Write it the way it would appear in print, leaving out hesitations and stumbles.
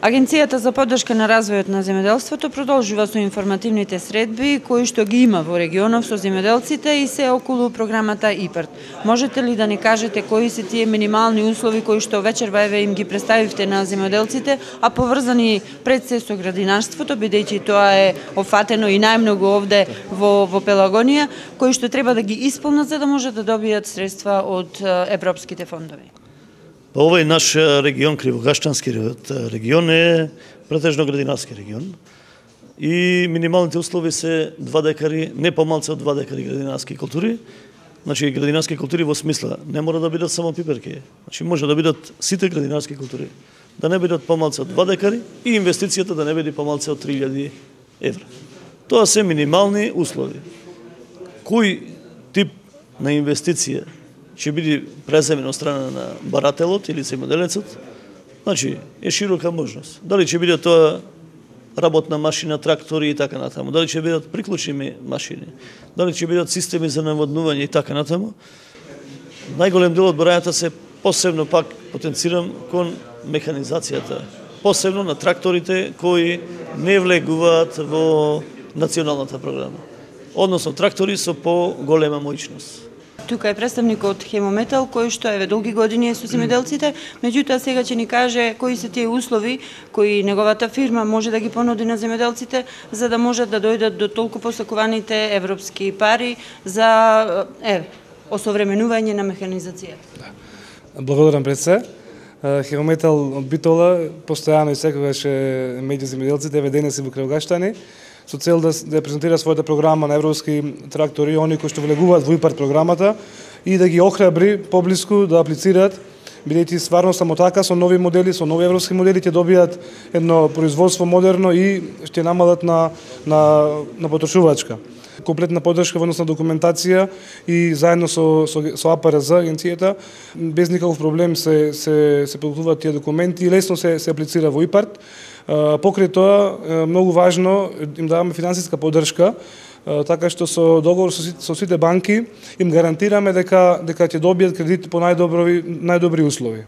Агенцијата за поддршка на развојот на земјоделството продолжува со информативните средби кои што ги има во регионов со земјоделците и се околу програмата ИПАРД. Можете ли да ни кажете кои се тие минимални услови кои што вечерва еве им ги представивте на земјоделците, а поврзани пред се со градинарството, бидејќи тоа е офатено и најмногу овде во Пелагонија, кои што треба да ги исполнат за да можат да добијат средства од европските фондови? Овој наш регион, Кривогаштански регион, е претежно градинарски регион и минималните услови се 2 декари, не помалце од 2 декари градинарски култури. Значи, градинарски култури во смисла, не мора да бидат само пиперки. Значи, може да бидат сите градинарски култури, да не бидат помалце од 2 декари и инвестицијата да не биде помалце од 3000 евра. Тоа се минимални услови. Кој тип на инвестиција ќе биде преземен од страна на барателот или земјоделецот, значи е широка можност. Дали ќе биде тоа работна машина, трактори и така натаму, дали ќе бидат приклучни машини, дали ќе бидат системи за наводнување и така натаму. Најголем дел од барањата се посебно пак потенцирам кон механизацијата, посебно на тракторите кои не влегуваат во националната програма, односно трактори со поголема моќност. Тука е представникот Хемометал, кој што еве долги години е со земјоделците, меѓутоа сега ќе ни каже кои се тие услови кои неговата фирма може да ги понуди на земјоделците за да можат да дојдат до толку посакуваните европски пари за осовременување на механизацијата. Благодарам пред се. Хемометал од Битола постојано и секогаш е меѓу земјоделците, еве денес и во Кривогаштани, со цел да презентира својата програма на европски трактори, они кои што влегуваат во ИПАРД програмата и да ги охрабри поблиску да аплицираат, бидејќи стварно само така со нови модели, со нови европски модели ќе добијат едно производство модерно и ќе намалат на потрошувачка. Комплетна поддршка во однос на документација и заедно со АПРЗ агенцијата без никаков проблем се подготвуваат тие документи и лесно се аплицира во ИПАРД. Покрај тоа многу важно им даваме финансиска поддршка, така што со договор со сите банки им гарантираме дека ќе добијат кредит по најдобри услови.